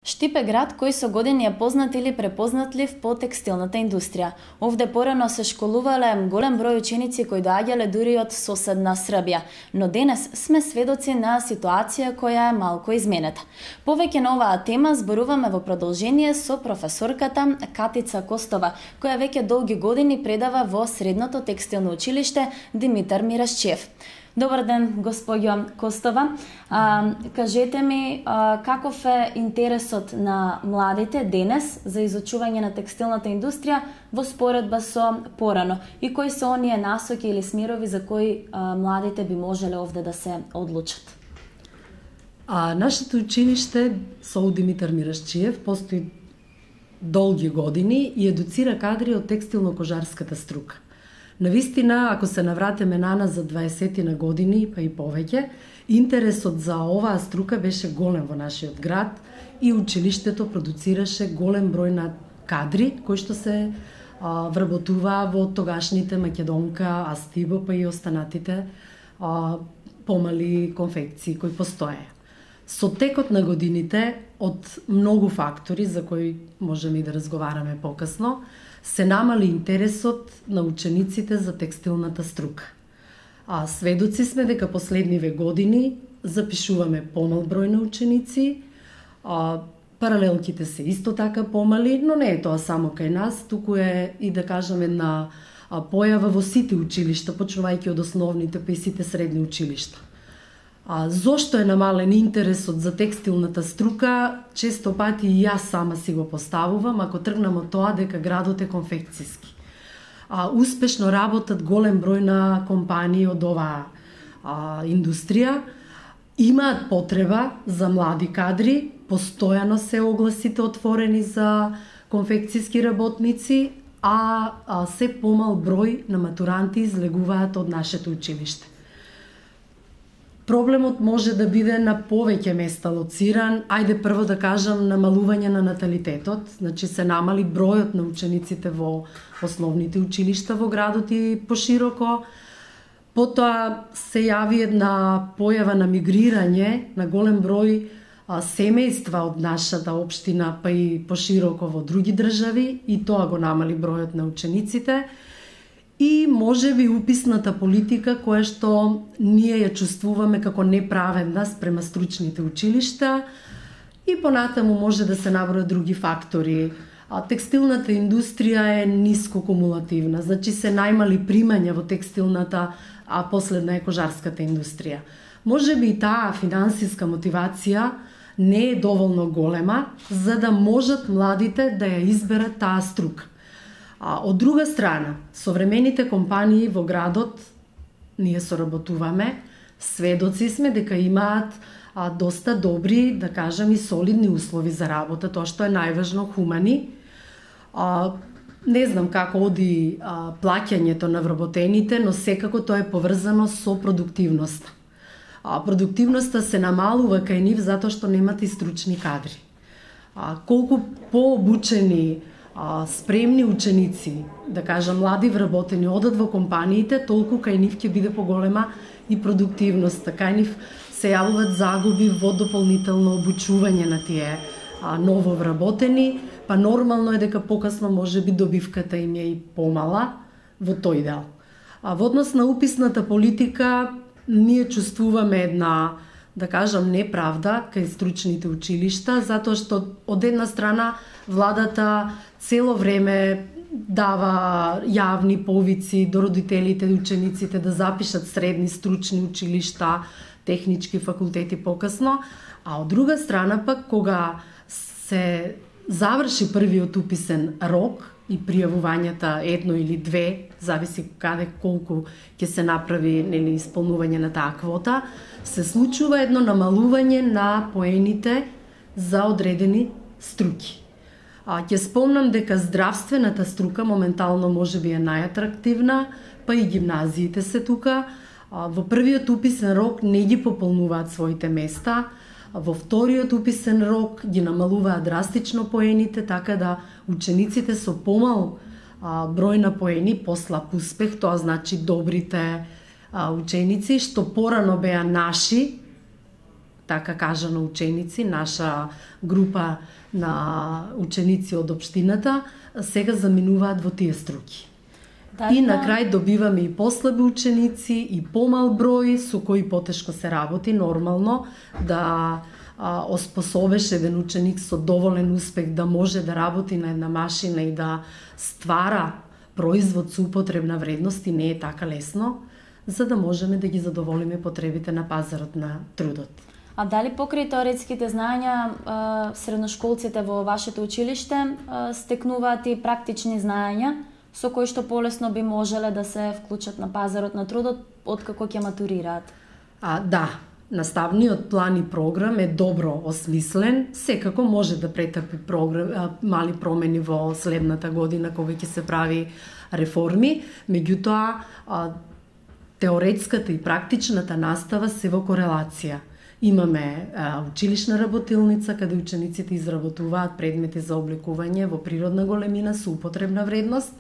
Штип е град кој со години е познат или препознатлив по текстилната индустрија. Овде порано се школувале голем број ученици кои доаѓале дури од соседна Србија, но денес сме сведоци на ситуација која е малку изменета. Повеќе на оваа тема зборуваме во продолжение со професорката Катица Костова, која веќе долги години предава во Средното текстилно училиште Димитар Мирашчиев. Добар ден, госпоѓо Костова. Кажете ми каков е интересот на младите денес за изучување на текстилната индустрија во споредба со порано и кои се оние насоки или смерови за кои младите би можеле овде да се одлучат? Нашето училиште со Димитар Мирашчиев постои долги години и едуцира кадри од текстилно-кожарската струка. Навистина, ако се навратиме наназ за 20 на години, па и повеќе, интересот за оваа струка беше голем во нашиот град и училиштето продуцираше голем број на кадри кои што се вработуваа во тогашните Македонка, Астибо, па и останатите помали конфекции кои постоеа. Со текот на годините, од многу фактори за кои можеме и да разговараме покасно, се намали интересот на учениците за текстилната струка. Сведоци сме дека последниве години запишуваме помал број на ученици, паралелките се исто така помали, но не е тоа само кај нас, туку е и да кажеме една појава во сите училишта, почнувајќи од основните па и сите средни училишта. Зошто е намален интересот за текстилната струка, често пати и јас сама си го поставувам, ако тргнам од тоа дека градот е конфекцијски. Успешно работат голем број на компании од оваа индустрија, имаат потреба за млади кадри, постојано се огласите отворени за конфекцијски работници, а се помал број на матуранти излегуваат од нашето училиште. Проблемот може да биде на повеќе места лоциран. Ајде прво да кажам намалување на наталитетот, значи се намали бројот на учениците во основните училишта во градот и пошироко. Потоа се јави една појава на мигрирање на голем број семејства од нашата општина па и пошироко во други држави и тоа го намали бројот на учениците. И можеби уписната политика која што ние ја чувствуваме како неправедна спрема стручните училишта и понатаму може да се набројат други фактори. Текстилната индустрија е ниско кумулативна, значи се најмали примања во текстилната, а последна е кожарската индустрија. Можеби и таа финансиска мотивација не е доволно голема за да можат младите да ја изберат таа струка. Од друга страна, современите компании во градот, ние соработуваме, сведоци сме дека имаат доста добри, да кажам, и солидни услови за работа, тоа што е најважно, хумани. Не знам како оди плаќањето на вработените, но секако тоа е поврзано со продуктивноста. Продуктивноста се намалува кај нив затоа што немат и стручни кадри. Колку пообучени спремни ученици, да кажам млади вработени, одат во компаниите, толку кај нив ќе биде поголема и продуктивноста. Кај нив се јавуваат загуби во дополнително обучување на тие ново вработени, па нормално е дека покасно можеби добивката им е и помала во тој дел. Во однос на уписната политика, ние чувствуваме една, да кажам, неправда кај стручните училишта, затоа што од една страна владата цело време дава јавни повици до родителите и учениците да запишат средни стручни училишта, технички факултети покасно, а од друга страна пак кога се заврши првиот уписен рок и пријавувањата едно или две, зависи каде колку ќе се направи исполнување на таа квота, се случува едно намалување на поените за одредени струки. Ќе спомнам дека здравствената струка моментално можеби е најатрактивна, па и гимназиите се тука. Во првиот уписен рок не ги пополнуваат своите места, во вториот уписен рок ги намалуваат драстично поените, така да учениците со помал број на поени, послаб успех, тоа значи добрите ученици што порано беа наши, така кажано ученици, наша група на ученици од општината, сега заминуваат во тие струки. И на крај добиваме и послаби ученици, и помал број со кои потешко се работи, нормално да оспособеш еден ученик со доволен успех да може да работи на една машина и да ствара производ со употребна вредност, и не е така лесно, за да можеме да ги задоволиме потребите на пазарот на трудот. А дали покрај теоретските знаења средношколците во вашето училиште стекнуваат и практични знаења со кои што полесно би можеле да се вклучат на пазарот на трудот откако ќе матурираат? Да, наставниот план и програм е добро осмислен, секако може да претрпи мали промени во следната година кога ќе се прави реформи, меѓутоа теоретската и практичната настава се во корелација. Имаме училишна работилница каде учениците изработуваат предмети за облекување во природна големина со употребна вредност,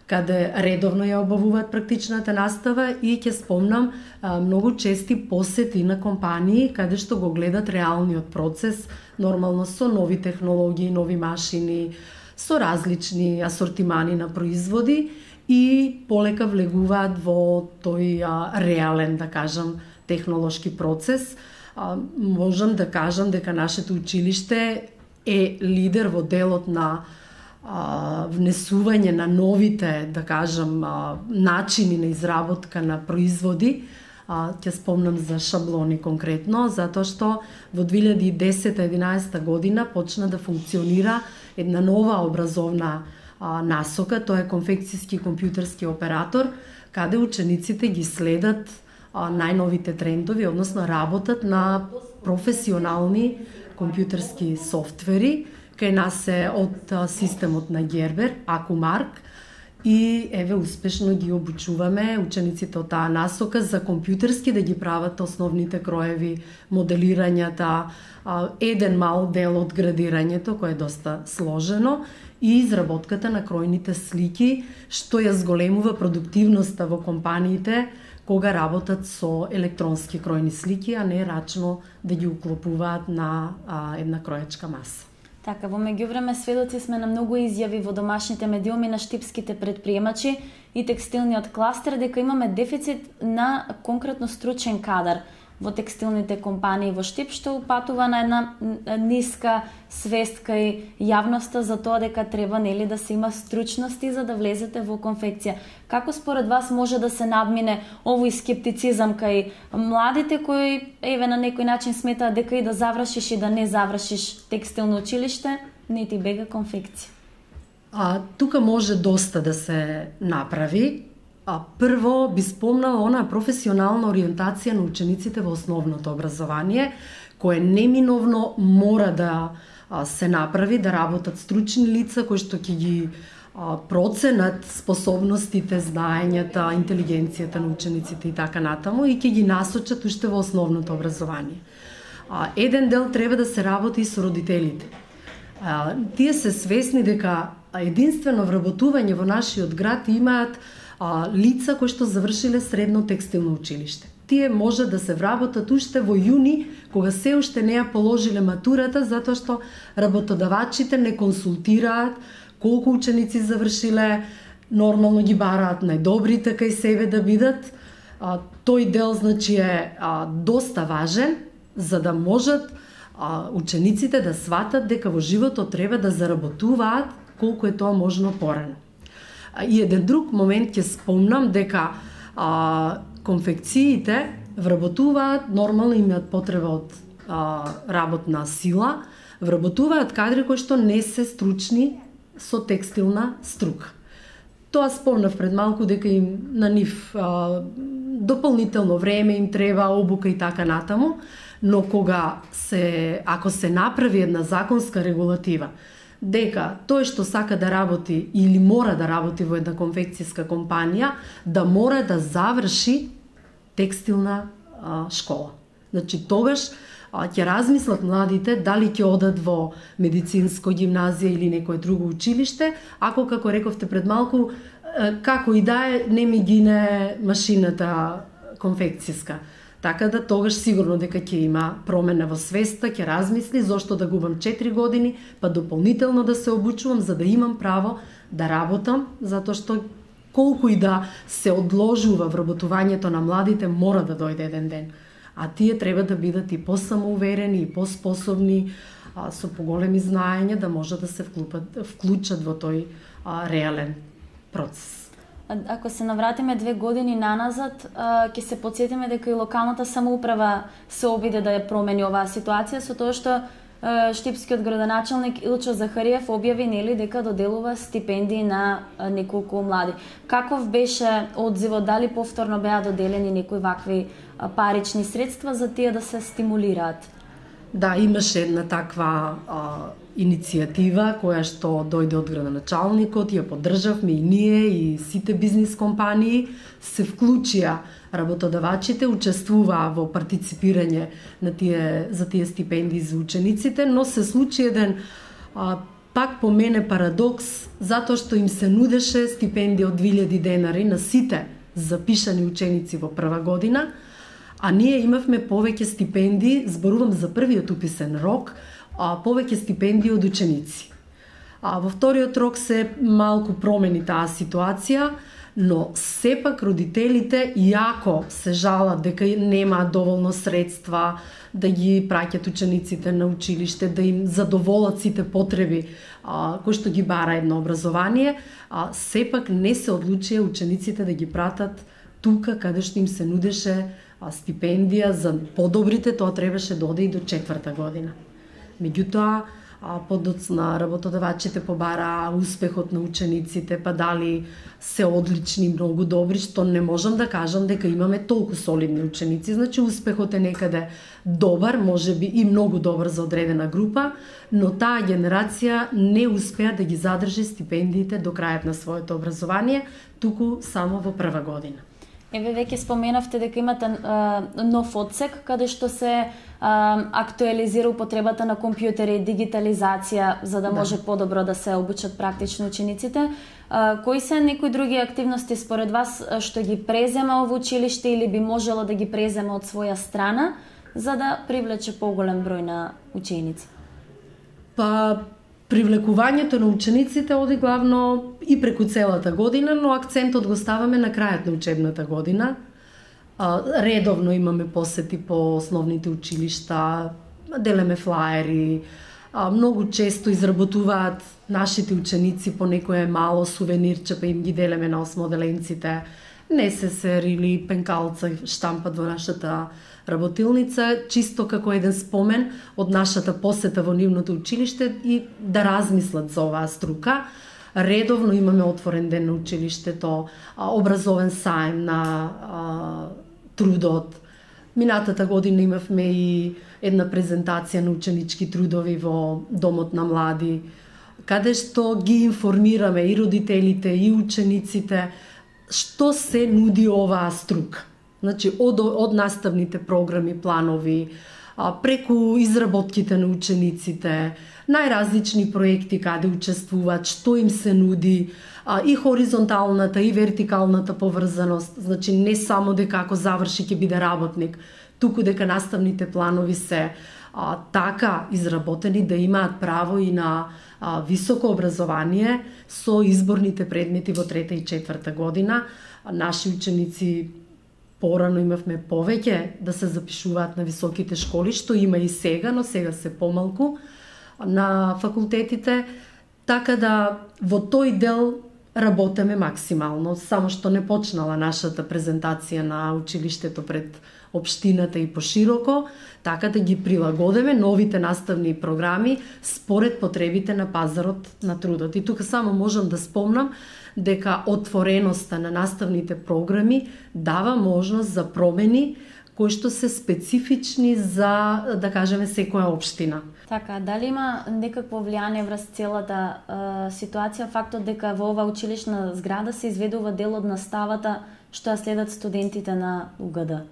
каде редовно ја обавуваат практичната настава, и ќе спомнам многу чести посети на компании каде што го гледат реалниот процес, нормално со нови технологии, нови машини, со различни асортимани на производи, и полека влегуваат во тој реален, да кажам, технолошки процес. Можам да кажам дека нашето училиште е лидер во делот на внесување на новите, да кажам, начини на изработка на производи. Ќе спомнам за шаблони конкретно, затоа што во 2010-2011 година почна да функционира една нова образовна насока, тоа е конфекцијски компјутерски оператор, каде учениците ги следат најновите трендови, односно работат на професионални компјутерски софтвери. Кај нас е од системот на Гербер, Акумарк, и еве успешно ги обучуваме учениците од таа насока за компјутерски да ги прават основните кроеви, моделирањата, еден мал дел од градирањето, кое е доста сложено, и изработката на кројните слики, што ја зголемува продуктивноста во компаниите кога работат со електронски кројни слики, а не рачно да ги уклопуваат на една кројачка маса. Така, во меѓувреме сведоци сме на многу изјави во домашните медиуми на штипските предприемачи и текстилниот кластер дека имаме дефицит на конкретно стручен кадар во текстилните компании во Штип, што упатува на една ниска свест кај јавноста за тоа дека треба да се има стручности за да влезете во конфекција. Како според вас може да се надмине овој скептицизам кај младите кои на некој начин сметаат дека и да завршиш и да не завршиш текстилно училиште, не ти бега конфекција? Тука може доста да се направи. Прво би спомнала онаа професионална ориентација на учениците во основното образование, кое неминовно мора да се направи, да работат стручни лица кои што ќе ги проценат способностите, знаењата, интелигенцијата на учениците и така натаму, и ќе ги насочат уште во основното образование. Еден дел треба да се работи и со родителите. Тие се свесни дека единствено вработување во нашиот град имаат лица кои што завршиле средно текстилно училиште. Тие може да се вработат уште во јуни, кога се уште не ја положиле матурата, затоа што работодавачите не консултираат колку ученици завршиле, нормално ги бараат најдобрите кај себе да бидат. Тој дел, значи, е доста важен, за да можат учениците да сватат дека во животот треба да заработуваат колку е тоа можно порано. И еден друг момент ќе спомнам дека конфекциите вработуваат, нормално имаат потреба од работна сила, вработуваат кадри кои што не се стручни со текстилна струка. Тоа спомнав пред малку дека им на нив дополнително време им треба, обука и така натаму, но ако се направи една законска регулатива дека тој што сака да работи или мора да работи во една конфекцијска компанија, да мора да заврши текстилна школа. Значи, тогаш ќе размислат младите дали ќе одат во медицинско гимназија или некое друго училиште, ако, како рековте пред малку, како и да е, не ми гине машината конфекцијска. Така да тогаш сигурно дека ќе има промена во свеста, ќе размисли зошто да губам 4 години, па дополнително да се обучувам за да имам право да работам, затоа што колку и да се одложува вработувањето на младите, мора да дојде еден ден. А тие треба да бидат и посамоуверени, и поспособни, со поголеми знаења да може да се вклучат во тој реален процес. Ако се навратиме 2 години наназад, ќе се потсетиме дека и локалната самоуправа се обиде да ја промени оваа ситуација со тоа што штипскиот градоначалник Илчо Захариев објави дека доделува стипендии на неколку млади. Каков беше одзивот, дали повторно беа доделени некои вакви парични средства за тие да се стимулираат? Да, имаше една таква иницијатива која што дојде од градоначалникот, ја поддржавме и ние и сите бизнис компании, се вклучија работодавачите, учествуваа во партиципирање за тие стипендии за учениците, но се случи еден пак по мене парадокс, затоа што им се нудеше стипендија од 2000 денари на сите запишани ученици во прва година, а ние имавме повеќе стипендии, зборувам за првиот уписен рок, повеќе стипендии од ученици. Во вториот рок се малку промени таа ситуација, но сепак родителите, иако се жалат дека немаат доволно средства да ги праќат учениците на училиште, да им задоволат сите потреби кои што ги бара едно образование, сепак не се одлучија учениците да ги пратат тука каде што им се нудеше стипендија за подобрите, тоа требаше да оде и до 4-та година. Меѓутоа, подоцна работодавачите побараа успехот на учениците, па дали се одлични, многу добри, што не можам да кажам дека имаме толку солидни ученици. Значи, успехот е некаде добар, можеби и многу добар за одредена група, но таа генерација не успеа да ги задржи стипендиите до крајот на своето образование, туку само во прва година. Еве веќе споменавте дека имате нов одсек каде што се актуализира употребата на компјутери, дигитализација за да може подобро да се обучат практично учениците. Кои се некои други активности според вас што ги презема ово училиште или би можело да ги презема од своја страна за да привлече поголем број на ученици? Привлекувањето на учениците оди главно и преку целата година, но акцентот го ставаме на крајот на учебната година. Редовно имаме посети по основните училишта, делеме флаери, многу често изработуваат нашите ученици по некое мало сувенирче, па им ги делеме на осмоделенците, несесер или пенкалца штампат во нашата работилница, чисто како еден спомен од нашата посета во нивното училиште и да размислат за оваа струка. Редовно имаме отворен ден на училиштето, образовен саем на трудот. Минатата година имавме и една презентација на ученички трудови во Домот на млади, каде што ги информираме и родителите и учениците што се нуди оваа струка. Значи, од наставните програми, планови, преку изработките на учениците, најразлични проекти каде учествуваат, што им се нуди, и хоризонталната и вертикалната поврзаност, значи не само дека ако заврши ќе биде работник, туку дека наставните планови се така изработени да имаат право и на високо образование со изборните предмети во 3-та и 4-та година. Наши ученици порано имавме повеќе да се запишуваат на високите школи, што има и сега, но сега се помалку на факултетите, така да во тој дел работеме максимално, само што не почнала нашата презентација на училиштето пред општината и пошироко, така да ги прилагодиме новите наставни програми според потребите на пазарот на трудот. И тука само можам да спомнам дека отвореноста на наставните програми дава можност за промени кои што се специфични за, да кажеме, секоја општина. Така, дали има некакво влијание врз целата ситуација фактот дека во ова училишна зграда се изведува дел од наставата што ја следат студентите на УГД?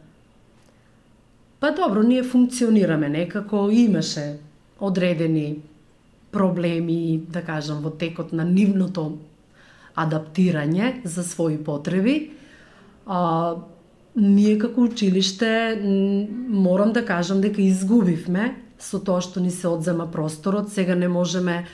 Па добро, ние функционираме некако, имаше одредени проблеми, да кажам, во текот на нивното адаптирање за своји потреби. ние како училиште морам да кажам дека изгубивме со тоа што ни се одзема просторот. Сега не можеме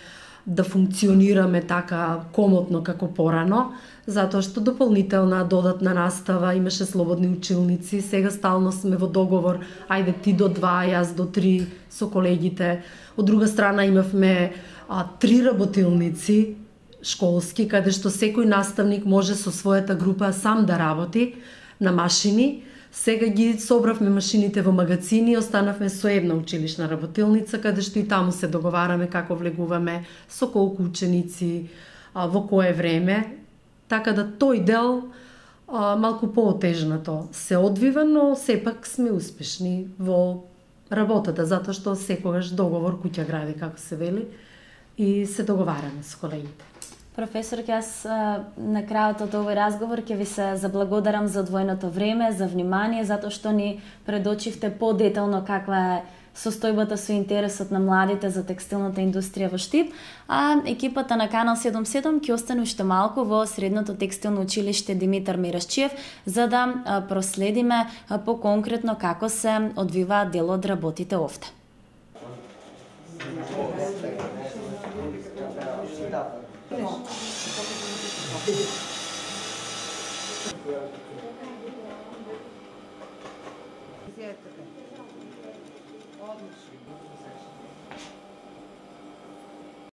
да функционираме така комотно како порано, затоа што дополнителна додатна настава, имаше слободни училници, сега стално сме во договор, ајде ти до 2, јас до 3 со колегите. Од друга страна имавме 3 работилници школски, каде што секој наставник може со својата група сам да работи на машини. Сега ги собравме машините во магазини, останавме со една училишна работилница, каде што и таму се договараме како влегуваме, со колку ученици, во кое време. Така да тој дел малку поотежнато се одвива, но сепак сме успешни во работата, затоа што секогаш договор куќа гради, како се вели, и се договараме со колегите. Професор, јас на крајот од овој разговор ќе ви се заблагодарам за одвоеното време, за внимание, затоа што ни предочивте подетално каква е состојбата со интересот на младите за текстилната индустрија во Штип, а екипата на Канал 77 ќе остане уште малку во Средното текстилно училиште Димитар Мирашчиев, за да проследиме поконкретно како се одвива дел од работите овде.